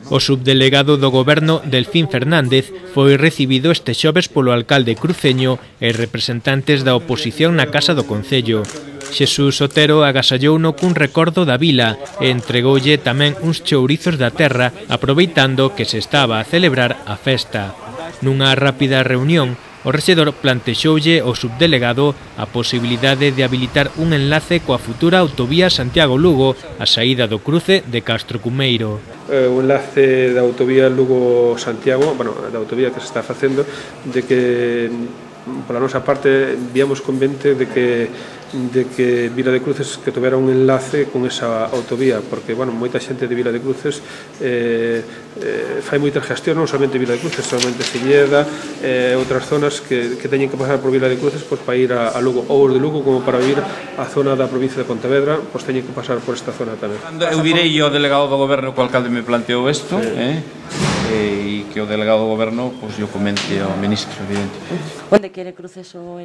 O subdelegado do Goberno, Delfín Fernández, foi recibido este xoves polo alcalde cruceño e representantes da oposición na Casa do Concello. Xesús Otero agasallouno cun recordo da vila e entregoulle tamén uns chourizos da terra, aproveitando que se estaba a celebrar a festa. Nunha rápida reunión, o rexedor plantexoulle ao subdelegado a posibilidade de habilitar un enlace coa futura autovía Santiago-Lugo a saída do cruce de Castro-Cumeiro. O enlace da autovía Lugo-Santiago, da autovía que se está facendo, de que pola nosa parte víamos convente de que Vila de Cruces que tuvera un enlace con esa autovía, porque moita xente de Vila de Cruces fai moitas gestións, non somente Vila de Cruces, somente Silleda, outras zonas que teñen que pasar por Vila de Cruces para ir a Lugo, ou os de Lugo como para vir a zona da provincia de Pontevedra, teñen que pasar por esta zona tamén. Eu direi ao delegado do Goberno que o alcalde me planteou isto, e que o delegado do Goberno yo comente ao ministro, evidentemente. Onde quere Cruces o